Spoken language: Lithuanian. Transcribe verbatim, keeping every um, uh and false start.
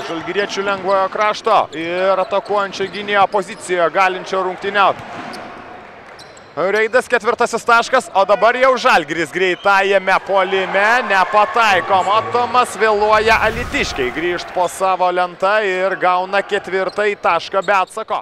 žalgiriečių lengvojo krašto ir atakuojančio gynėjo pozicijoje galinčio rungtyniauti. Reidas ketvirtasis taškas, o dabar jau Žalgiris greitajame puolime nepataiko. Matomas vėluoja alytiškiai grįžt po savo lentą ir gauna ketvirtąjį tašką be atsako.